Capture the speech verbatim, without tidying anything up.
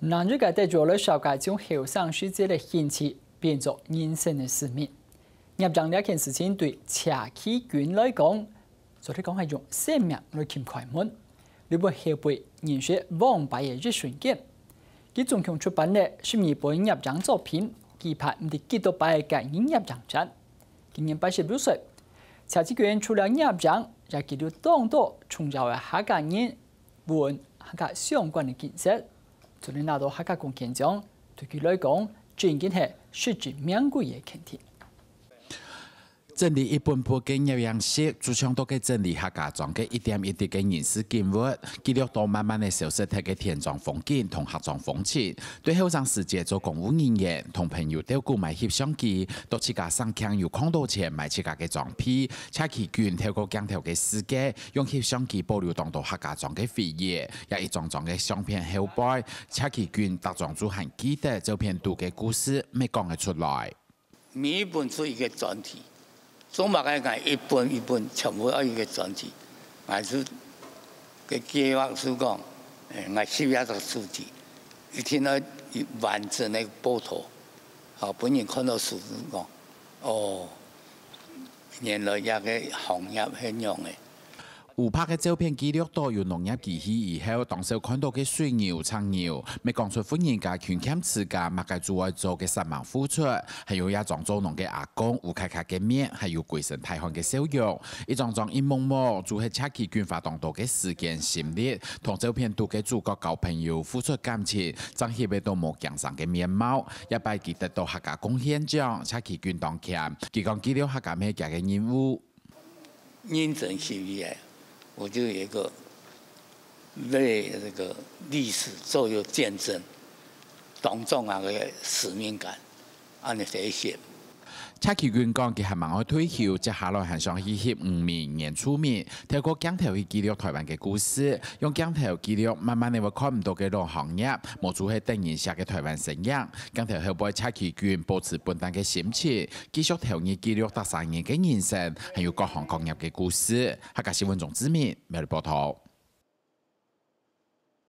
男主角得著了小家長後生時節个興趣，變做人生个使命。攝影這件事情對謝啟鈞來講，做得講係用生命來尋開門。這本後背認識黃牌个一瞬間，佢總共出版了十二本攝影作品，舉辦毋知幾多擺个個人攝影展。今年八十六歲，謝啟鈞除了攝影，也記錄當多重要个客家人、文、客家相關个景色。做得拿到客家貢獻獎，對佢來講，正經係實至名歸个肯定。整理一本本个攝影集，就像到該整理客家莊个一點一滴个人事景物，記錄到慢慢个消失忒个田莊風景同客莊風情。對後生時節做公務人員，同朋友鬥鼓買翕相機，到自家省鏡有囥到錢買自家个裝備，謝啟鈞透過鏡頭个世界，用翕相機保留當多客家莊个回憶，也一張張个相片後背，謝啟鈞逐張就還記得照片肚个故事，乜講得出來。 每一本出一個專題，做麼个𠊎一本一本全部愛一個專題？𠊎係个計畫係講，誒，𠊎十一隻主題，一定愛完整个報導，好，分人看到書就講，哦，原來這個行業係恁樣个。 烏白个照片記錄到有農業機器以後，當少看到个水牛、赤牛，乜講出婦人家勤儉持家，麼个就愛做个煞猛付出，還有這張做農个阿公烏卡卡个面，還有歸身大汗个笑容。一張張一幕幕，就係謝啟鈞花當多个時間、心力，同照片肚个主角交朋友、付出感情，正翕會到無驚生个面貌。這擺佢得到客家貢獻獎，謝啟鈞當謙，佢講記錄客家乜係佢个任務。 認真十一年，我就有一個為這個歷史做一個見證，當重要个使命感，恁樣寫一寫。謝啟鈞講，佢還吂愛退休，接下來還想去翕漁民、原住民，透過鏡頭去記錄臺灣个故事，用鏡頭記錄慢慢仔會看毋到个老行業，無就係等人惜个臺灣身影。鏡頭後背，謝啟鈞保持本旦个心情，繼續投入記錄逐儕人个人生，還有各行各業个故事。 客家新聞鍾志明，苗栗報導。